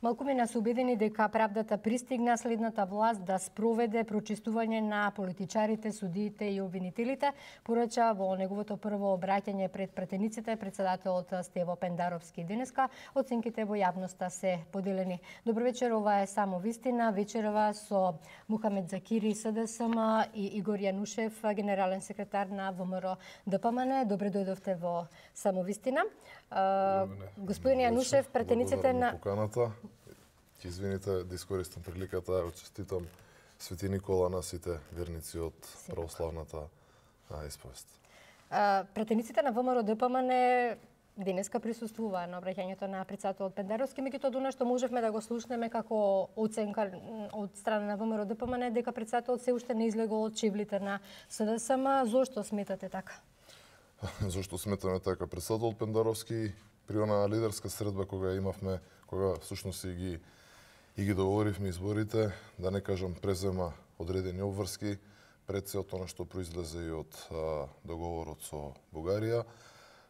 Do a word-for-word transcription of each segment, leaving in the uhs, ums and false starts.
Малкумина се убедени дека правдата пристигна, следната власт да спроведе прочистување на политичарите, судиите и обвинителите, порача во неговото прво обраќање пред пратениците председателот Стево Пендаровски. Денеска оценките во јавноста се поделени. Добро вечер, ова е Само вистина. Вечерова со Мухамед Закири, СДСМ и Игор Јанушев, генерален секретар на ВМРО ДПМН. Добре дојдовте во Само вистина. Господин Јанушев, пратениците на поканата. Ќе извините да искористам приликата да честитам Свети Никола на сите верници од православната исповест. Пратениците на ВМРО ДПМН денеска присуствуваа на обраќањето на председателот Пендаровски, меѓутоа она што можевме да го слушнеме како оценка од страна на ВМРО ДПМН дека председателот се уште не излегол од чевлите на СДСМ. Зошто сметате така? Зошто сметаме така? Председателот Пендаровски при онаа лидерска средба кога имавме, кога всушност и ги и ги договоривме изборите, да не кажам презема одредени обврски пред се од тоа што произлезе и од а, договорот со Бугарија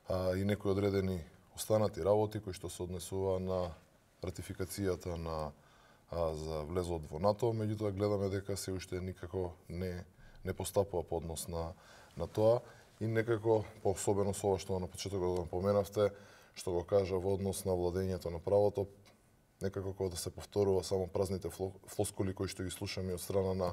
а, и некои одредени останати работи кои што се однесува на ратификацијата на а, за влезот во НАТО, меѓутоа гледаме дека се уште никако не не постапува по однос на на тоа и некако поособено со ова што на почетокот го поменавте, што го кажа во однос на владењето на правото, некако кога да се повторува само празните флоскули кои што ги слушаме од страна на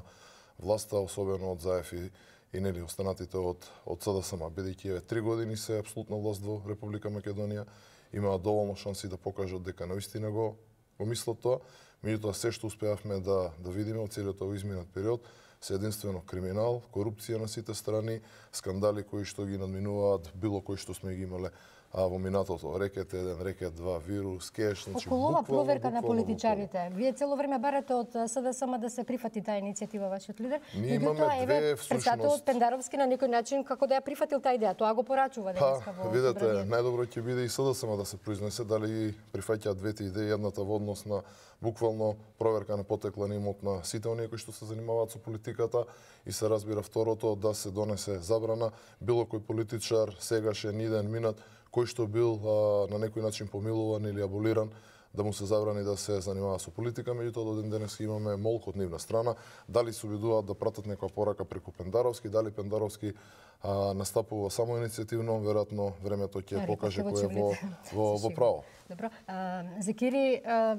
власта, особено од Заев и, и нели останатите од од СДСМ, бидејќи еве три години се апсолутна власт во Република Македонија, имаа доволно шанси да покажат дека навистина го го мислат тоа, меѓутоа се што успеавме да да видиме од целиот овој изминат период се единствено криминал, корупција на сите страни, скандали кои што ги надминуваат било кои што сме ги имале а во минатото, рекет еден, рекет два, вирус, кеш, значи околу ова проверка на политичарите. Вие цело време барате од СДСМ да се прифати таа иницијатива вашиот лидер. Ние имаме две всушност. Председателот Пендаровски на некој начин како да ја прифатил таа идеја, тоа го порачува денеска во видете, најдобро ќе биде и СДСМ да се произнесе дали прифаќаат двете идеи, едната во однос на буквално проверка на потекла на имот на сите оние кои што се занимаваат со политиката и се разбира второто да се донесе забрана било кој политичар сегашен иден минат кој што бил а, на некој начин помилуван или аболиран, да му се забрани да се занимава со политика, меѓутоа до ден денес имаме молк од нивна страна. Дали се обидуваат да пратат некоја порака преку Пендаровски, дали Пендаровски а, настапува само иницијативно, веројатно времето ќе покаже кој е во, во, во право. Добро. А, Закири, а,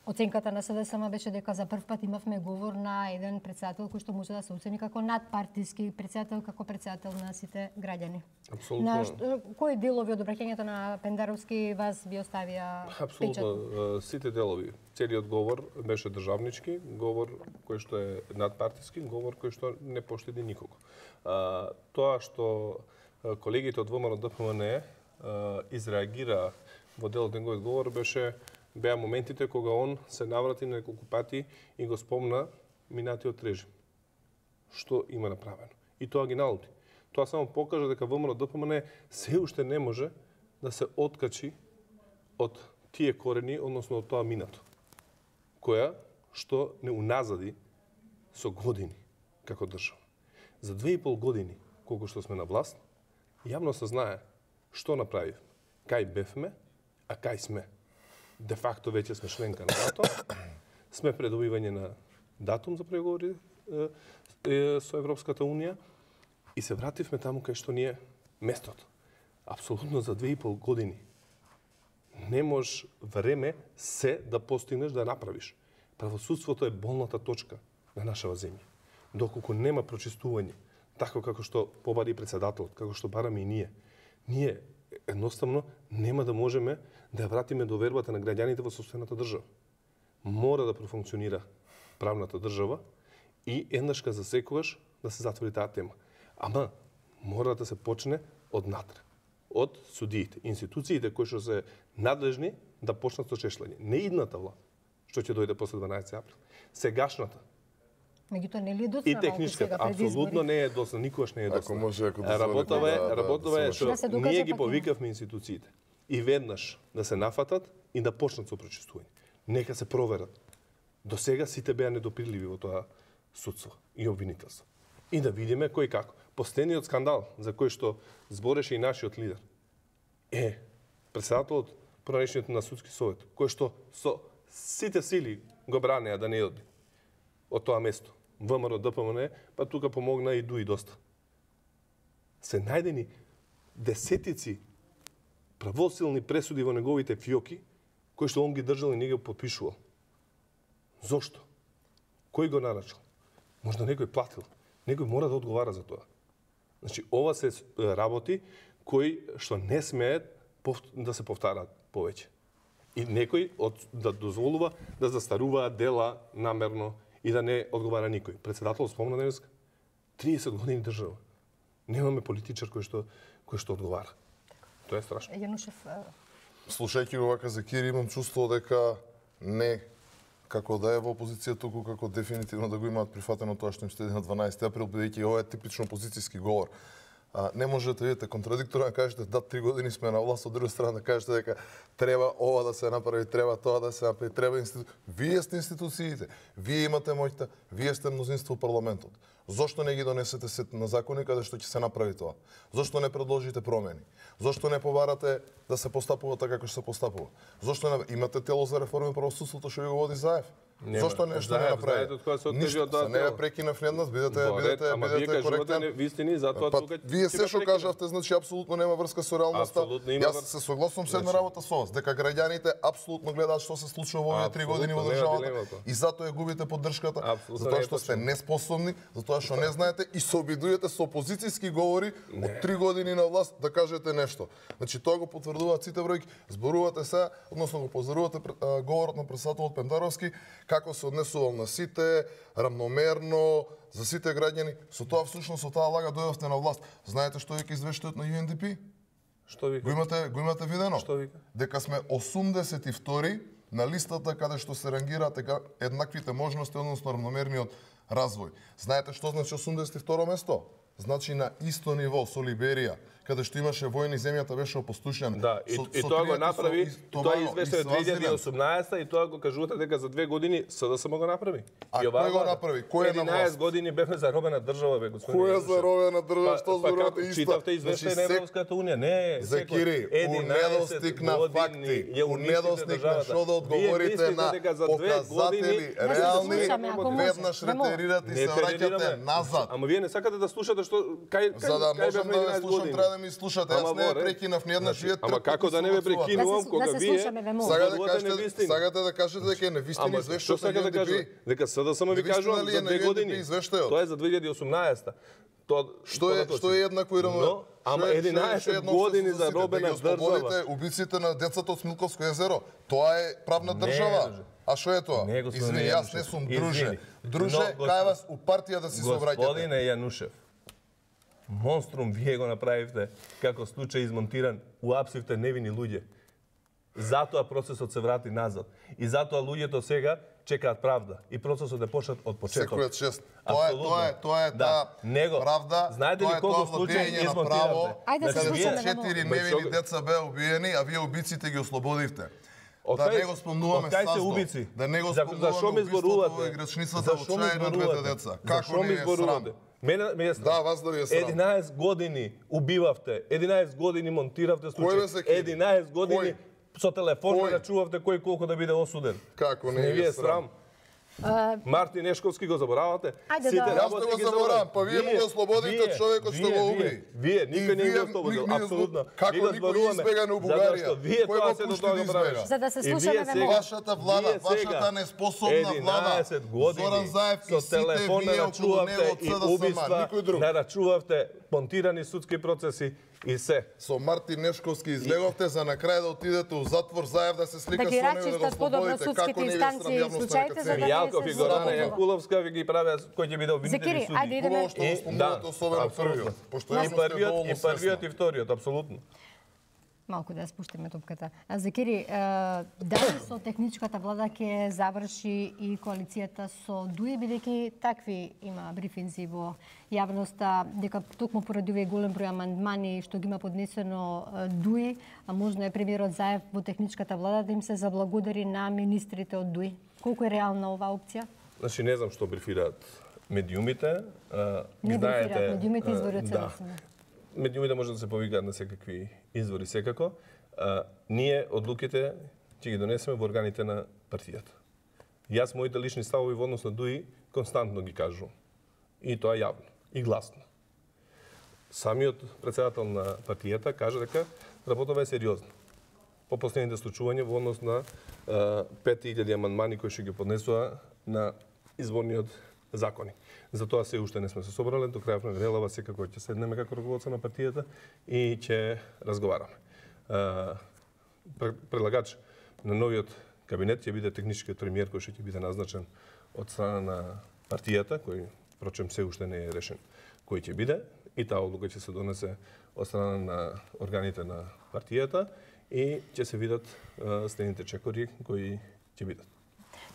оценката на СДСМ беше дека за прв пат имавме говор на еден председател кој што може да се оцени како надпартиски председател, како председател на сите граѓани. Апсолутно. На што, кои делови од обраќањето на Пендаровски вас би оставија печат? Апсолутно, сите делови. Целиот говор беше државнички, говор кој што е надпартиски, говор кој што не поштеди никого. А, тоа што колегите од ВМРО ДПМН изреагира во делот неговиот говор беше беа моментите кога он се наврати неколку пати и го спомна минатиот режим. Што има направено. И тоа ги налути. Тоа само покажа дека ВМРО ДПМН се уште не може да се откачи од тие корени, односно од тоа минато, која што не уназади со години како држава. За две и пол години, колку што сме на власт, јавно се знае што направив, кај бевме, а кај сме. Де факто веќе сме членка на НАТО, сме пред добивање на датум за преговори е, е, со Европската Унија и се вративме таму кај што ни е местото. Апсолутно за две и пол години не можеш време се да постигнеш да направиш. Правосудството е болната точка на нашава земја. Доколку нема прочистување, така како што побари председателот, како што бараме и ние, ние едноставно нема да можеме да ја вратиме довербата на граѓаните во сопствената држава. Мора да профункционира правната држава и еднашка за секогаш да се затвори таа тема. Ама мора да се почне од натре, од судиите, институциите кои што се надлежни да почнат со чешлење. Не идната власт, што ќе дојде после дванаесети април, сегашната. Меѓутоа не ли е доцна? И техничката апсолутно не е доцна, никогаш не е доцна. Ако може, ако работава е, да, работава е да, што да ние ги повикавме институциите и веднаш да се нафатат и да почнат со прочистување. Нека се проверат. До сега сите беа недопирливи во тоа судство и обвинителство. И да видиме кој како. Последниот скандал за кој што збореше и нашиот лидер е председателот поранешниот на судски совет, кој што со сите сили го бранеа да не оди од тоа место. ВМРО, ДПМН, па тука помогна и ДУИ доста. Се најдени десетици правосилни пресуди во неговите фиоки, кои што он ги држал и не ги подпишувал. Зошто? Кој го нарачал? Можда некој платил. Некој мора да одговара за тоа. Значи, ова се работи кои што не смеат да се повтараат повеќе. И некој од, да дозволува да застаруваат дела намерно и да не одговара никој. Председател спомна денеска, триесет години држава. Немаме политичар кој што кој што одговара. Тоа е страшно. Јанушев, слушајќи го вака за Кири, имам чувство дека не како да е во опозиција, туку како дефинитивно да го имаат прифатено тоа што им следи на дванаесети април, бидејќи ова е типично опозицијски говор. А, не можете да видите контрадикторно да кажете да три години сме на власт, од друга страна да кажете дека треба ова да се направи, треба тоа да се направи, треба институ... Вие сте институциите, вие имате моќта, вие сте мнозинство во парламентот. Зошто не ги донесете сет на закони каде што ќе се направи тоа? Зошто не предложите промени? Зошто не побарате да се постапува така како што се постапува? Зошто не имате тело за реформи во правосудството што ви го води Заев? Нема. Зошто нешто не направи? Ништо, се не ве прекинав неднас, бидете бидете бидете коректен. Вистини, затоа па, тука вие се што кажавте, значи апсолутно нема врска со реалноста. Јас се согласувам со една значи... работа со вас, дека граѓаните апсолутно гледаат што се случува во овие три години во државата и затоа ја губите поддршката, затоа што сте неспособни, затоа што не знаете и се обидувате со опозицијски говори не. Од три години на власт да кажете нешто. Значи тоа го потврдуваат сите бројки. Зборувате се, односно го позорувате говорот на председателот Пендаровски, како се однесувал на сите, рамномерно, за сите граѓани. Со тоа всушност со таа лага дојдовте на власт. Знаете што вика извештајот на Ю Ен Ди Пи? Што вика? Го имате, го имате видено? Што вика? Дека сме осумдесет и втори на листата каде што се рангираат еднаквите можности, односно рамномерниот развој. Знаете што значи осумдесет и второ место? Значи на исто ниво со Либерија, каде што имаше војни, земјата беше опустошена. Да, и, со, и со тоа го направи, со, тоа извеше две илјади и осумнаесета и тоа го кажувате дека за две години СДСМ го направи. А и кој го направи? Кој е на власт? единаесет години бевме заробена држава, бе, господин. Кој е заробена држава? Што па, зборувате па, исто? читавте извештај на Европската унија? Не, за Кири, у недостиг на факти, у недостиг на што да одговорите на показатели реални, веднаш ретерирате и се враќате назад. Ама вие не сакате да слушате што кај кај за да можам да ве слушам, треба да ми слушате. Јас не ве прекинав ниеднаш, вие ама како да не ве прекинувам кога вие сакате да кажете, сакате да кажете дека е невистина извештајот на Ю Ен Ди Пи? Дека СДСМ ви кажувам за две години. Тоа е за две илјади и осумнаесета. Тоа што е што е еднакво и рамно? Ама единаесет години за робена држава. Убиците на децата од Смилковско езеро. Тоа е правна држава. А што е тоа? Извини, јас не сум друже. Друже, кај вас у партија да си се обраќате. Господине Јанушев, монструм вие го направивте како случај измонтиран, уапсивте невини луѓе. Затоа процесот се врати назад. И затоа луѓето сега чекаат правда. И процесот е почнат од почеток. Секојот шест. Тоа е, тоа е, тоа е таа правда. Знаете ли колку случаи измонтиравте? Ајде се слушаме четири невини деца беа убиени, а вие убиците ги ослободивте. Да не го спомнуваме Саздо. Да не го спомнуваме убиството во играчницата во Чајна двете деца. Како не е срам? Мене ме е да, вас да ви е срам. единаесет години убивавте, единаесет години монтиравте случаи, единаесет години со телефон рачувавте кој колку да биде осуден. Како не ви е срам? Uh, Мартин Нешковски го заборавате? Сите да. Јас го заборавам, па вие му го ослободите човекот што го уби. Вие, никој не го ослободил, апсолутно. Како никој избега на Бугарија? Вие тоа се до тоа го правиш. За да се слушаме ве вашата влада, вашата неспособна влада. единаесет години Зоран Заев и со телефон нарачувавте и убиства, нарачувавте понтирани судски процеси и се. Со Мартин Нешковски излеговте за на крај да отидете у затвор, Заев да се слика да со него да го ослободите. Како не ви е срам случаите, за да Јалков и Горана Јанкуловска ви ги правеа кој ќе биде обвинители суди. Ајде идеме. Што го спомнувате особено првиот, пошто и првиот, и првиот и вториот, апсолутно. Малку да спуштиме топката. Закири, дали со техничката влада ќе заврши и коалицијата со ДУИ, бидејќи такви има брифинзи во јавноста, дека токму поради овие голем број амандмани што ги има поднесено ДУИ, а можно е премиерот Заев во техничката влада да им се заблагодари на министрите од ДУИ. Колку е реална оваа опција? Значи не знам што брифираат медиумите. Не брифираат медиумите, изворот се медиумите може да се повикаат на секакви извори секако. А, ние одлуките ќе ги донесеме во органите на партијата. Јас моите лични ставови во однос на ДУИ константно ги кажувам. И тоа јавно и гласно. Самиот председател на партијата кажа дека работава е сериозна. По последните случувања во однос на пет илјади амандмани кои ќе ги поднесува на изборниот закони. Затоа се уште не сме се собрале, до крајот на неделава секако ќе седнеме како раководство на партијата и ќе разговараме. Предлагач на новиот кабинет ќе биде техничкиот премиер кој ќе биде назначен од страна на партијата, кој впрочем се уште не е решен кој ќе биде, и таа одлука ќе се донесе од страна на органите на партијата и ќе се видат следните чекори кои ќе бидат.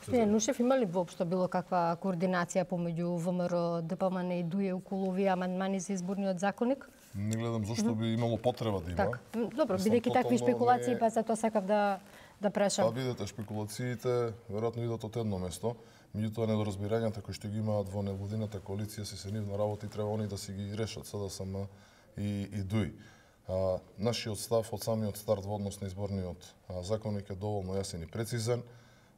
Господин Нушев, има ли воопшто било каква координација помеѓу ВМРО, ДПМН и ДУИ околу овие амандмани за изборниот законник? Не гледам зашто би имало потреба да има. Так. Добро, бидејќи такви шпекулации, па затоа сакав да да прашам. Па видете, шпекулациите веројатно идат од едно место, меѓутоа недоразбирањата кои што ги имаат во невладината коалиција си се нивна работа и треба они да си ги решат СДСМ и и ДУИ. А, нашиот став од самиот старт во однос на изборниот а, законник е доволно јасен и прецизен.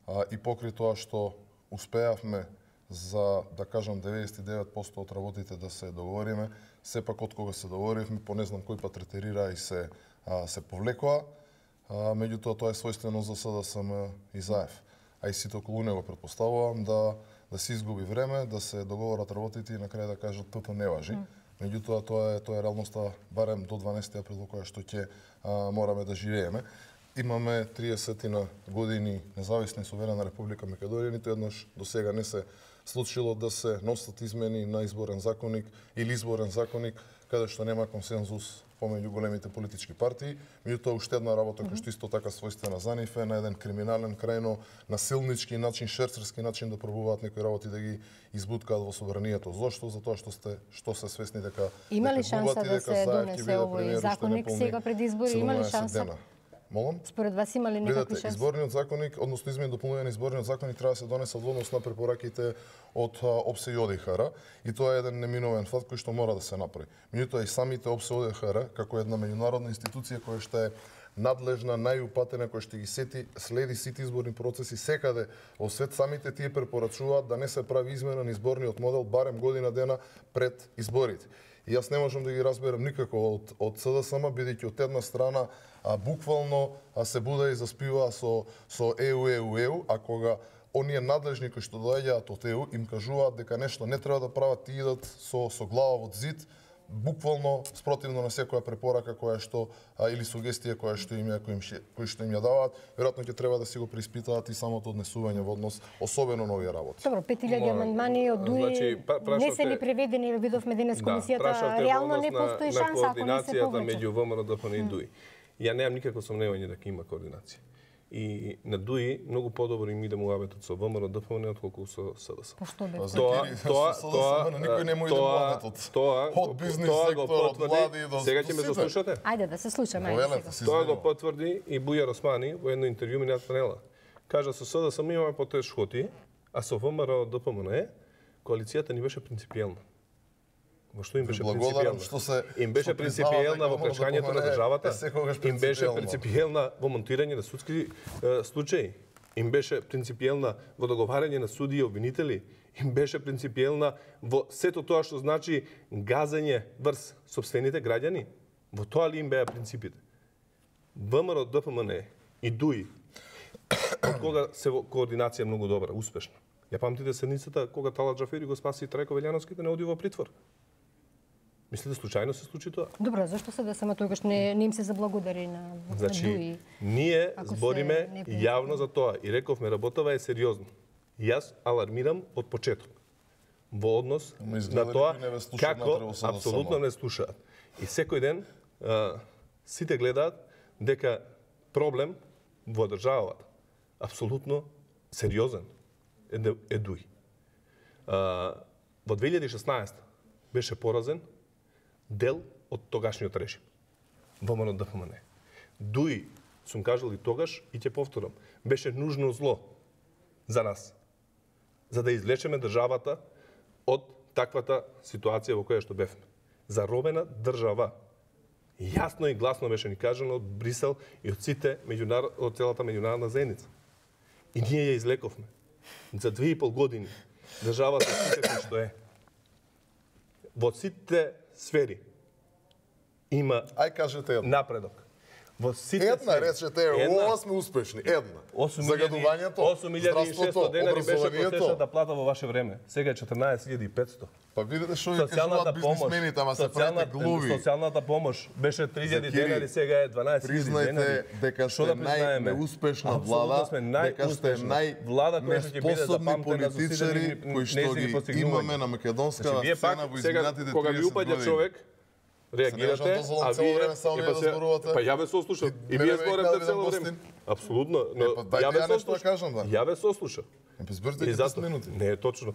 А, и покрај тоа што успеавме за, да кажам, деветдесет и девет проценти од работите да се договориме, сепак од кога се договоривме, по не знам кој пат ретерира и се, а, се повлекоа, а, меѓутоа тоа е својствено за СДСМ и ЗАЕФ. А и сите околу него предпоставувам да, да се изгуби време, да се договорат работите и на крај да кажат тото не важи. Mm. Меѓутоа тоа е, тоа е реалноста барем до дванаесети април во која што ќе мораме да живееме. Имаме триесет години независна и суверена Република Македонија, ниту еднаш до сега не се случило да се носат измени на изборен законник или изборен законник каде што нема консензус помеѓу големите политички партии. Меѓутоа уште една работа која што исто така својствена за нив е на еден криминален, крајно насилнички начин, шерцерски начин да пробуваат некои работи да ги избуткаат во собранието. Зошто? Затоа што сте што се свесни дека има ли шанса да се донесе овој законник сега пред избори? Има ли шанса? Молам? Според вас има ли некакви шанси? Изборниот законник, односно измени и дополнување на изборниот законник треба да се донесе во однос на препораките од ОПСЕ и ОДИХР и тоа е еден неминовен факт кој што мора да се направи. Меѓутоа и самите ОПСЕ и ОДИХР како една меѓународна институција која што е надлежна, најупатена, која што ги сети, следи сите изборни процеси секаде во свет, самите тие препорачуваат да не се прави измена на изборниот модел барем година дена пред изборите. И јас не можам да ги разберам никако од, од СДСМ, бидејќи од една страна а, буквално а, се буда и заспива со, со ЕУ, ЕУ, ЕУ, а кога оние надлежни кои што доаѓаат од ЕУ им кажуваат дека нешто не треба да прават, и идат со, со глава од зид, буквално спротивно на секоја препорака која што а, или сугестија која што им ја кои, кои што им ја даваат, веројатно ќе треба да си го преиспитаат и самото однесување во однос особено на овие работи. Добро, пет илјади амандмани од ДУИ значи, не се ни преведени, видовме денес комисијата, да, реално не постои шанса ако не се повлече. Меѓу ВМРО, ДПМН и ДУИ. Ја немам никакво сомневање дека има координација. И на ДУИ многу подобро им иде муабетот со ВМРО, ДПМН отколку со СДС. Па што бе? Тоа, тоа, тоа, никој не му иде муабетот. Тоа, од бизнис сектор, од влади до сега ќе ме заслушате. Ајде да се слушаме. Тоа го потврди и Бујар Османи во едно интервју минат панела. Кажа со СДС имаме потешкоти, а со ВМРО, ДПМН коалицијата ни беше принципиелна. Во што им беше принципиелна? Што се им беше принципиелна во плечкањето на државата. Им беше принципиелна во монтирање на судски е, случаи. Им беше принципиелна во договарање на суди и обвинители. Им беше принципиелна во сето тоа што значи газење врз сопствените граѓани. Во тоа ли им беа принципите? ВМРО, ДПМН и ДУИ од кога се во координација многу добра, успешна. Ја памтите седницата кога Талат Џафери го спаси Трајко Велјановски да не оди во притвор. Мислите случајно се случи тоа? Добро, зашто се да само тогаш не, не им се заблагодари на, значи, на ДУИ? Ние збориме јавно за тоа и рековме работава е сериозно. Јас алармирам од почеток во однос на тоа како апсолутно не слушаат. И секој ден а, сите гледаат дека проблем во државата апсолутно сериозен е, е ДУИ. А, во две илјади и шеснаесета беше поразен дел од тогашниот режим. ВМРО, ДПМН. ДУИ, сум кажал и тогаш и ќе повторам, беше нужно зло за нас, за да извлечеме државата од таквата ситуација во која што бевме. Заробена држава. Јасно и гласно беше ни кажано од Брисел и од сите меѓунар... од целата меѓународна заедница. И ние ја излековме. За две и пол години државата сите што е. Во сите сфери има Ај кажете една. напредок. Во сите Една сфери. речете, ова сме успешни. Една. Загадувањето, осум илјади и шестоста денари беше образованието. просечната плата во ваше време. Сега е четрнаесет илјади и петсто. Па видите што ви Социјалната кажуваат помош, бизнисмените, ама се правите глуви. социјалната помош беше три илјади Закири, денари, сега е дванаесет илјади денари. Признайте дека Што сте да признаеме? најнеуспешна Апсолутно влада, сме дека сте најуспешна. Влада која ќе биде најнеспособни запамтена за сите политичари незини- кои што незини ги постигнувања. имаме на македонска Значи, вие сцена пак во сега изминатите кога ви триесет упаѓа години. човек, реагирате, Се не можам да а цело вие време само е, вие па да се- зборувате. Па ја ве сослушав. И И вие мене ме зборевте викаат цело да време. гостин. Апсолутно, но Е, па дајте ја ве ја нешто да сослушав. кажам, да. Ја ве сослушав. Е, па зборите И ги зато десет минути. не е точно.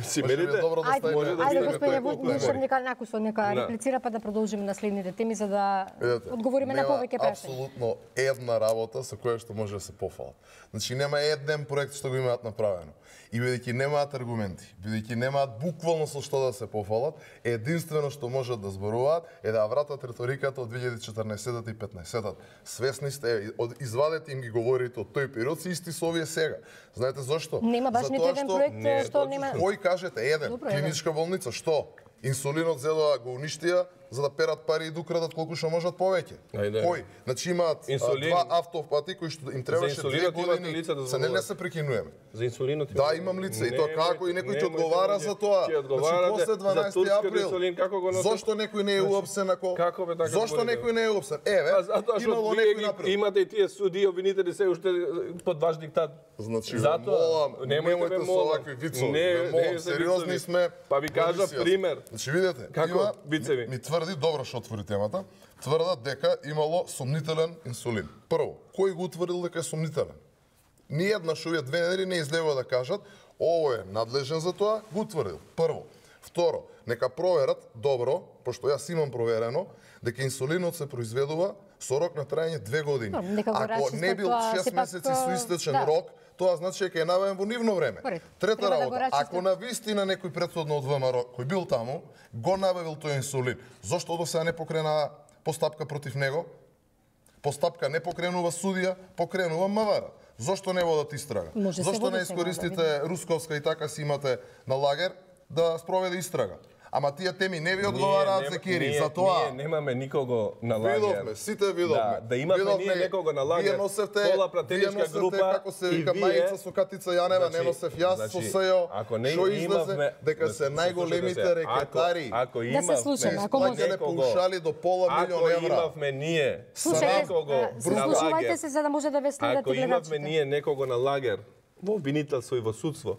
Си Може би е мените, добро да Ајде, ставиме- може да ајде видиме господине тој колку Вучев, говори. нека Накусо нека Да. реплицира па да продолжиме на следните теми за да Видете, одговориме на нема повеќе прашања. апсолутно една работа со која што може да се пофалат. Значи нема еден проект што го имаат направено. И бидејќи немаат аргументи, бидејќи немаат буквално со што да се пофалат, единствено што можат да зборуваат е да вратат риториката од две илјади и четрнаесетта и петнаесетта. Свесни сте, од- извадете им ги говорите од тој период, се исти со овие сега. Знаете зошто? Нема баш ниту Затоа еден што- проект Не е што точно. нема. Кој кажете еден, Добро, еден. клиничка болница, што? Инсулинот зедоа го уништија за да перат пари и да украдат колку што можат повеќе. Ајде. Кој? Значи имаат а, Инсулин. два автопати кои што им требаше две инсулинот имате години. лица да Се не, не зборувате. се прекинуваме. За инсулинот. Да, имам лице и тоа како и некој ќе одговара за тоа. Ќе одговарате Значи после за дванаесети турскиот април. инсулин како го носите? Зошто некој не е уопсен ако Како бе така Зошто говорите? некој не е уопсен? Еве, Па затоа што имало вие некој ги направил. имате и тие суди обвинители се уште под ваш диктат. Значи, ве Затоа, молам, немојте немојте ме со молам. овакви вицови. Не, Ве молам, не се сериозни вицови. сме. Па ви кажа емисијата. пример. Значи видете, Како има, вицеви? ми, ми тврди, добро што отвори темата, тврдат дека имало сомнителен инсулин. Прво, кој го утврдил дека е сомнителен? Ниеднаш овие две недели не излегува да кажат, ово е надлежен за тоа, го утврдил. Прво. Второ, нека проверат добро, пошто јас имам проверено, дека инсулинот се произведува со рок на трајање две години. Добро, нека го Ако расчистат не бил тоа, шест сепак, месеци со истечен да. рок, тоа значи дека е набавен во нивно време. Корект. Трета Треба да го работа, расчистат. ако на вистина некој претходно од ВМРО кој бил таму, го набавил тој инсулин, зошто до сега не покрена постапка против него? Постапка не покренува судија, покренува МВР. Зошто не водат истрага? Може се Зошто води не сега, искористите Русковска и така си имате на лагер да спроведе истрага? Ама тие теми не ви одговараат за Кири, за тоа. Ние немаме никого на лагер. Видовме, сите видовме. Да, да имаме Видовме, ние некого на лагер. Вие носевте, пола вие пратеничка носевте, група како се и вика вие- мајица со Катица Јанева, не Значи- носев јас значи, со Сејо. ако не Што излезе имавме- дека да се се најголемите слушате се. рекетари. Ако, ако Да се имавме, слушаме, Не ако може. исплаќале паушали до пола милион Ако евра. имавме ние Слушајте, некого а, на слушувајте лагер, се за да може да ве следат ако и имавме гледачите. ние некого на лагер во обвинителство и во судство,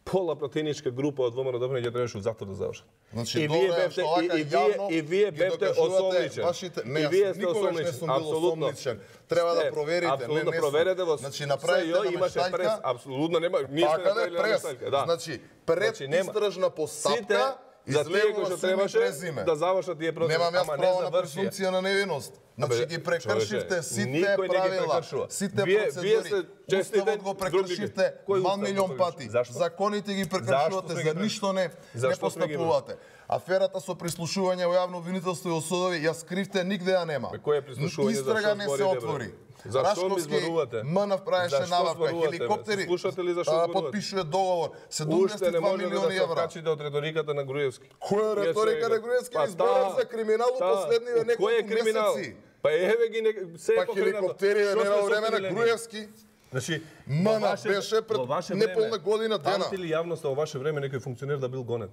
пола пратеничка група од ВМРО ќе требаше у затвор да завршат. Значи, и добро вие е бевте што и, вака и вие јавно и вие ги бевте докажувате осомничен. вашите- Не, и јас вие сте никогаш не осомничен. сум бил Апсолутно. осомничен. Треба да Сте, проверите, не, апсолутно не сум. проверете во Значи, направите СЈО на имаше мештајка, прес, апсолутно нема, ние сме Така да направили е прес. мештајка, да. Значи, пред Значи, нема. истражна постапка, Сите за тие кои излегува што суми требаше презиме. да завршат тие процеси, Немам јас ама не право на завршија. презумпција на невиност. Значи Абе, ги прекршивте човече, сите никој не ги правила, прекршува. сите Вие- процедури. вие сте честите Уставот го прекршивте Кој мал устав го милион прекрши? пати. Зашто? Законите ги Зашто прекршувате, сме за ги ништо не, не Зашто сме ги постапувате. Аферата со прислушување во јавно обвинителство и во судови, ја скривте, нигде ја нема. Бе, кој е прислушување, Истрага зашто не се зборите, бе? отвори. Зашто ми Рашковски зборувате? МНФ правеше Зашто набавка, зборувате, бе? хеликоптери, Слушате ли зашто а, зборувате? потпишува договор, Уште седумдесет и не два може да милиони се евра. откачите од риториката на Груевски. Која е реторика на Груевски? Па Ни зборам таа, за криминал во таа. последниве Кој е неколку криминал? месеци. Па еве ги не, се е Па покренато. хеликоптери Што не сме на време на соприлени? Груевски. Значи, Ма, во на, ваше- беше пред во ваше неполна време, година дена. Памти ли јавноста во ваше време некој функционер да бил гонет?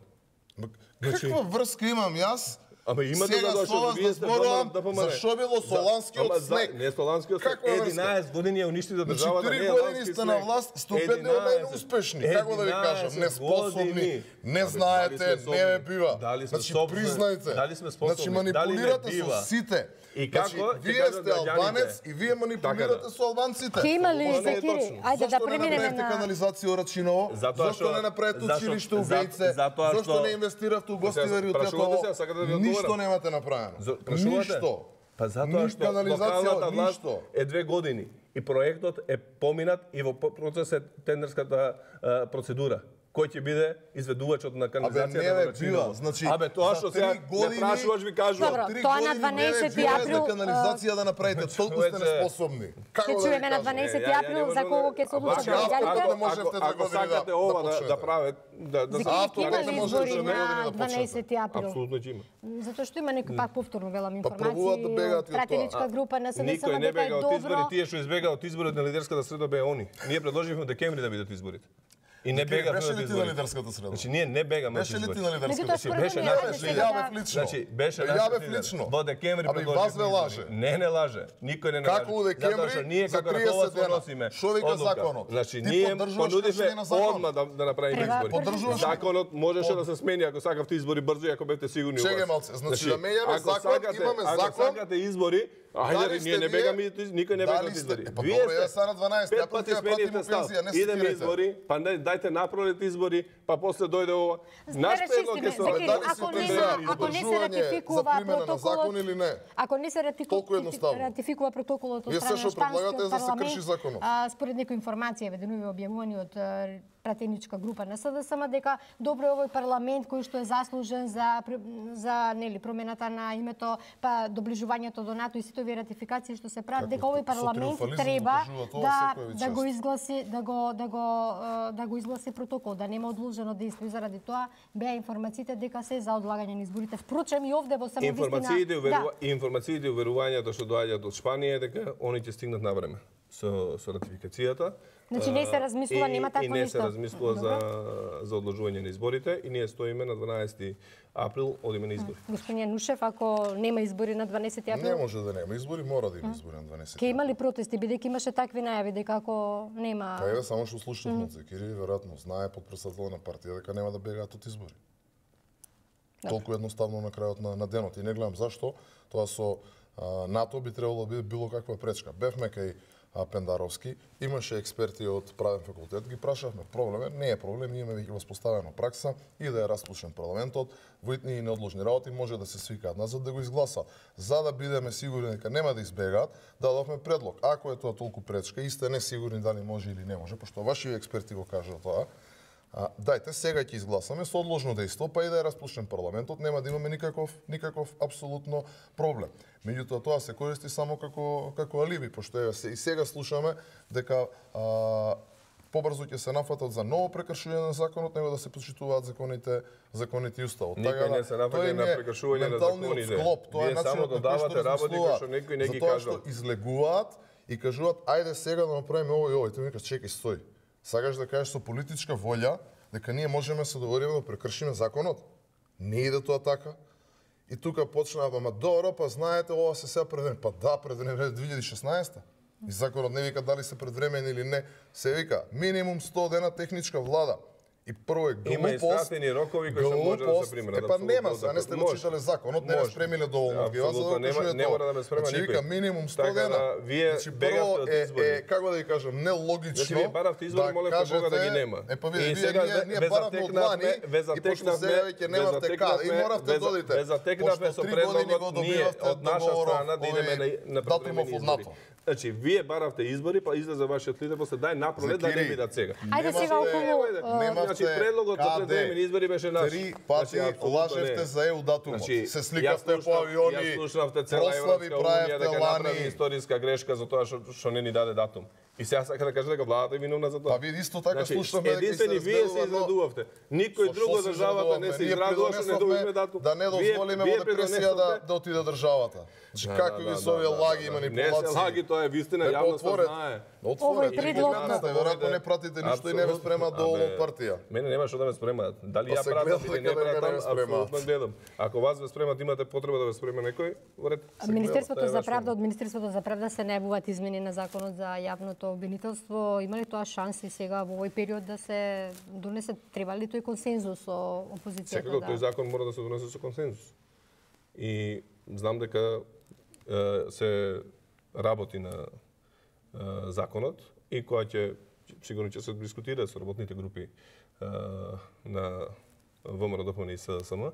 Значи- Каква врска имам јас? Ама има Сега да со вас вие да сте зборувам да за шо било Соланскиот Ама за- снег. Не Соланскиот снег. Каква врска? единаесет години ја уништите Значи, државата. три не е години лански сте на снег. власт, сте убедливо единаесет. најуспешни. Како да ви кажам, единаесет неспособни, години. не Абе, знаете, дали сме не ме способни? бива. Дали сме Значи, способни? признајте. Дали сме способни? Значи, Дали не манипулирате бива? со сите. И како Значи, ќе вие кажат сте граѓаните? албанец и вие манипулирате Така да. со албанците. Ќе има ли Ова не е Закири? точно. Ајде да Зошто не преминеме направите на канализација у Рачиново? Затоа Зошто што- не направите зашто- училиште у за- Бејце? затоа Зошто што- не инвестиравте у Гостивари у Прашувате Тетово? се, сакате да ви Ништо одговорам? немате направено. За- прашувате? Ништо. Па затоа Ни што канализација, локалната власт ништо. е две години и проектот е поминат и во процес е тендерската а, процедура. кој ќе биде изведувачот на канализацијата Абе, не на бе, била, значи, Абе, тоа што сега не прашуваш ви кажувам. Добро, тоа на дванаесети април канализација да направите, толку сте неспособни. Ќе чуеме на дванаесети април за кого ќе се одлучат граѓаните. Не можете да Ако сакате ова да да прават да да Ќе има ли избори на да дванаесети април? Апсолутно ќе има. Затоа што има некои пак повторно велам пробуваат да бегаат и информации, од тоа. пратеничка група на СДСМ Никој не дека е бега од добро. избори, тие што избега од изборот на лидерската среда беа они. Ние предложивме во декември да бидат изборите. И не бегавме Беше од ли ти на изборите. лидерската среда? Значи ние не бегаме од Беше ли ти изборите. на лидерската Меѓутоа, среда? според Беше мене, наш ајде Беше сега јавев да- лично. Значи беше Бе, наш јавев лидер. лично. Во декември Ами предложивме вас ве избори. лаже. Не, не лаже. Никој не Како лаже. у декември, Затоа што ние за како триесет раководство дена, носиме што вика одлука. законот? Значи Ти ние поддржуваш понудивме кршење на законот? одма да да направиме Треба избори. Поддржуваш ли? Законот можеше да се смени ако сакавте избори брзо и ако бевте сигурни во Чекај вас. малце, значи да менјаме ако закон, сакате- имаме Ако закон. сакате избори, Дали ајде сте ние не вие- бегаме, никој не бега Дали од сте- избори. Е, па Вие добро, сте ја сега на дванаесети, пет април пати ќе ја смените пратиме став. пензија, не се Идеме скирете. избори, па не дајте направите избори, па после дојде ова. Наш предлог е со Зекири, дали ако си не за се ако не се издржување ратификува за примена на протоколот, закон или не? ако не се Толку ратификува едноставно. ратификува протоколот од Вие страна се на што предлагате е шпанскиот да се парламент, крши законот. а, според некои информации веднуве објавувани од а, пратеничка група на СДСМ дека добро е овој парламент кој што е заслужен за за нели промената на името, па доближувањето до НАТО и сите овие ратификации што се прават, дека овој со парламент триумфализм треба го кажува тоа да секој да го час. изгласи да го да го а, да го изгласи протокол, да нема одложено дејство и заради тоа беа информациите дека се за одлагање на изборите. Впрочем и овде во само Информациите, вистина. уверува... информациите и уверувањето што доаѓаат од Шпанија е дека они ќе стигнат на време со со ратификацијата. Значи не се размислува, И- нема такво И не нешто. се размислува за за одложување на изборите и ние стоиме на дванаесети април одиме на избори. Господин Нушев, ако нема избори на дванаесети Не април, може да нема избори, мора да има избори на дванаесети. ќе има ли протести, бидејќи имаше такви најави дека ако нема. Па еве само што слушнавме од Зекири, веројатно знае подпредседател на партија дека нема да бегаат од избори. Толку едноставно на крајот на, на денот. И не гледам зашто тоа со а, НАТО би требало да биде било каква пречка. Бевме кај а, Пендаровски, имаше експерти од правен факултет, ги прашавме проблеме, не е проблем, имаме веќе воспоставена пракса и да е распушен парламентот, воитни и неодложни работи може да се свикаат назад да го изгласа. За да бидеме сигурни дека нема да избегаат, дадовме предлог. Ако е тоа толку пречка и сте несигурни дали може или не може, пошто ваши експерти го кажа тоа, А, дајте сега ќе изгласаме со одложно дејство, па и да е распушен парламентот, нема да имаме никаков никаков апсолутно проблем. Меѓутоа тоа се користи само како како алиби, пошто еве се и сега слушаме дека а, побрзо ќе се нафатат за ново прекршување на законот, него да се почитуваат законите законите и уставот. Никој не се нафаќа на прекршување на законите. Склоп, тоа е Вие само начинот на кој додавате што работи размислуваат. кои што некој не ги Затоа кажал. што излегуваат и кажуваат ајде сега да направиме ово и ово. И тој ми кажа чекај, стој. Сакаш да кажеш со политичка волја дека ние можеме да се договориме да прекршиме законот? Не иде тоа така. И тука почнаа, ама добро, па знаете, ова се сега пред време. Па да, пред време две илјади и шеснаесета. И законот не вика дали се предвремен или не. Се вика минимум сто дена техничка влада. И прво е глупост. Има истратени рокови кои што може да се примерат. Е па нема, апсолутно а не сте го може. читале законот, не ме Може. спремиле доволно. Ги вас за да Апсолутно, го нема- кажете не тоа. мора да ме спрема Значи, никој. вика минимум сто Така дена. да, вие Значи, бегавте прво од е, избори. е, како да ви кажам, нелогично. Значи, вие баравте избори, молевте Бога да ги нема. Е па И вие, вие, сега ние, ние ве баравме од лани, затекнавме- ве и пошто затекнавме- сега веќе ве немавте каде, и затекнавме- моравте ве да за- додите. ве затекнавме Пошто со три години го предлогот ние добивавте од наша договоров, страна да идеме на, на датумов превремени од избори. НАТО. Значи, вие баравте избори, па излезе вашиот лидер, после дај напролет да не Зекири, бидат сега. Ајде сега Немавте- околу немавте Значи, предлогот за каде. предвремени избори беше наш. Три пати Значи, апсолутно лажевте не. за еу датумот. Значи, Се ја сликавте по слушнав- авиони, Ја слушнавте цела прослави Европска унија правевте дека направи лани. историска грешка за тоа што што не ни даде датум. И сега сака да каже дека владата е виновна за тоа. Па вие исто така Значи, слушнавме дека единствени се вие се изгледува, но- израдувавте. Никој Со друго што се државата не израдувавме? се Ние израдува што не добивме придонесовме датум. да не дозволиме Вие- во вие депресија да, придонесовте- да отиде државата. Значи, какви се овие лаги и манипулации? Не се лаги, тоа е вистина, Е, па јавноста отворете. знае. Отворете. Овој предлог Ги на- гледате, веројатно не пратите ништо и не ве спрема доволно Абе, партија. Мене нема што да ме спремаат. Дали Па ја се пратам гледа или не дека не пратам, ве спремаат. апсолутно гледам. Ако вас ве спремат, имате потреба да ве спрема некој, во ред. Министерството Тоа е за ваш правда, од Министерството за правда се најавуваат измени на законот за јавното обвинителство. Има ли тоа шанси сега во овој период да се донесе? Треба ли тој консензус со опозицијата? Секако да... тој закон мора да се донесе со консензус. И знам дека е, се работи на е, законот и која ќе сигурно ќе се дискутира со работните групи е, на ВМРО ДПМН и СДСМ.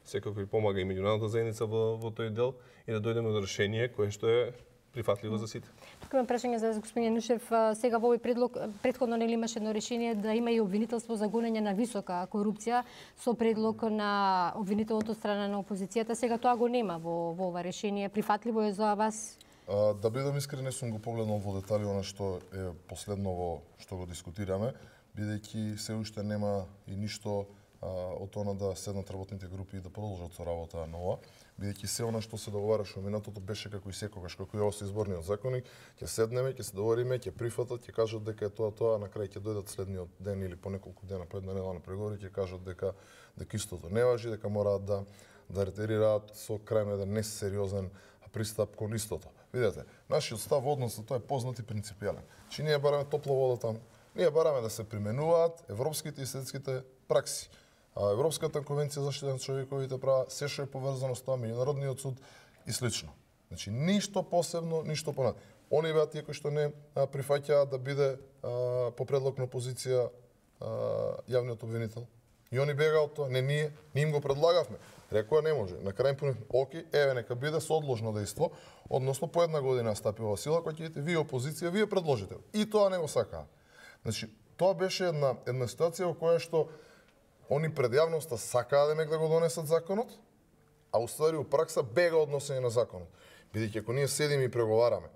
Секако и помага и меѓународната заедница во, во тој дел и да дојдеме до решение кое што е прифатливо за сите. Тука имам прашање за господин Янушев. Сега во овој предлог претходно нели имаше едно решение да има и обвинителство за гонење на висока корупција со предлог на обвинителното страна на опозицијата. Сега тоа го нема во, во ова решение. Прифатливо е за вас? А, да бидам искрен, не сум го погледнал во детали она што е последно во што го дискутираме, бидејќи се уште нема и ништо а, од она да седнат работните групи и да продолжат со работа на ова, бидејќи се она што се договараше во минатото беше како и секогаш, како и ова со изборниот законник, ќе седнеме, ќе се договориме, ќе прифатат, ќе кажат дека е тоа тоа, а на крај ќе дојдат следниот ден или по неколку дена по една недела на преговори, ќе кажат дека дека истото не важи, дека мораат да да ретерираат со крај еден несериозен пристап кон истото. Видете, нашиот став во однос тоа е познат и принципијален. Чи ние бараме топла вода таму. Ние бараме да се применуваат европските и светските пракси. А Европската конвенција за заштита на човековите права, се што е поврзано со тоа, меѓународниот суд и слично. Значи ништо посебно, ништо понад. Они беа тие кои што не прифаќаат да биде а, по предлог на опозиција а, јавниот обвинител. И они бега од тоа, не ние, ние им го предлагавме. Рекоа не може. На крај понев, оки, еве нека биде со одложно дејство, односно по една година стапи во сила, кој ќе видите вие опозиција, вие предложите. И тоа не го сакаа. Значи, тоа беше една една ситуација во која што они пред јавноста сакаа да да го донесат законот, а уствари у пракса бега односење на законот. Бидејќи ако ние седиме и преговараме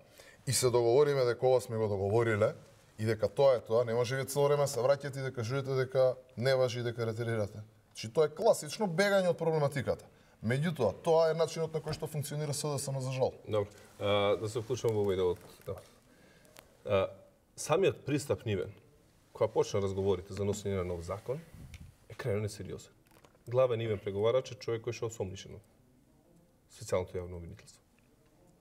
и се договориме дека ова сме го договориле и дека тоа е тоа, не може вие цело време се враќате и да кажете дека не важи и дека ретерирате. Значи тоа е класично бегање од проблематиката. Меѓутоа, тоа е начинот на кој што функционира СДСМ за жал. Добро. А, да се вклучам во овој дел од да. Самиот пристап нивен, кога почна разговорите за носење на нов закон, е крајно несериозен. Главен нивен преговарач е човек кој што е осомнишен од специјалното јавно обвинителство.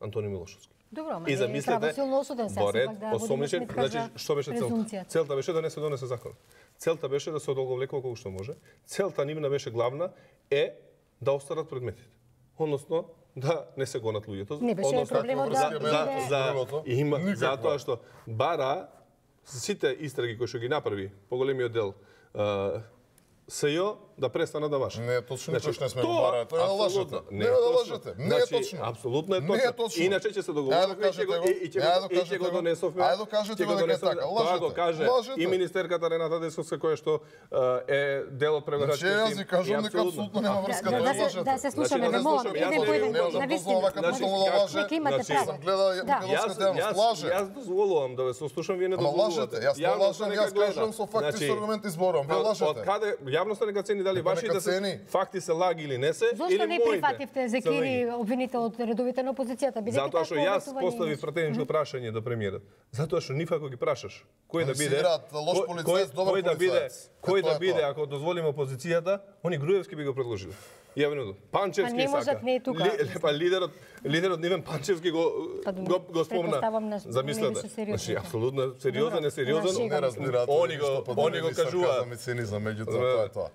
Антони Милошовски. Добро, ама е правосилно осуден се, сепак да водиме сметка за што беше целта? Целта беше да не се донесе закон. Целта беше да се одолговлекува колку што може. Целта нивна беше главна е да остарат предметите. Односно, да не се гонат луѓето. Не беше проблемот да за, за, има затоа што бара сите истраги кои што ги направи поголемиот дел СЈО да престана да важат. Не е точно, значи, точно не сме го барали. Тоа е да лажете. Не е да лажете. Не е точно. Апсолутно е точно. Не е точно. Иначе ќе се договориме и ќе го донесовме. Ајде кажете дека е така. Лажете. Тоа го каже и министерката Рената Десовска која што е дел од преговарачкиот тим. Значи јас ви кажувам дека апсолутно нема врска да лажете. Да се слушаме, не молам. Еден по еден на вистина. Нека имате право. Гледа македонска девност лаже. Јас дозволувам да ве сослушам, вие не дозволувате. Јас не лажам, јас кажувам со факти со аргументи зборувам. Вие лажете. Од каде јавноста нека цени дали вашите се факти се лаги или не се, зошто или не прифативте Зекири обвинител од редовите на опозицијата? Затоа што јас поставив претеничко прашање до премиерот. Затоа што нифако ако ги прашаш кој да биде, кој да биде, кој да биде ако дозволиме опозицијата, они Груевски би го предложил. Јавно Панчевски не можат не е тука. Ли, па лидерот лидерот Нивен Панчевски го па, го, го спомна. Замислете. Значи апсолутно сериозен, несериозен. Не разбираат. Они го они го кажуваат. Меѓутоа тоа е тоа.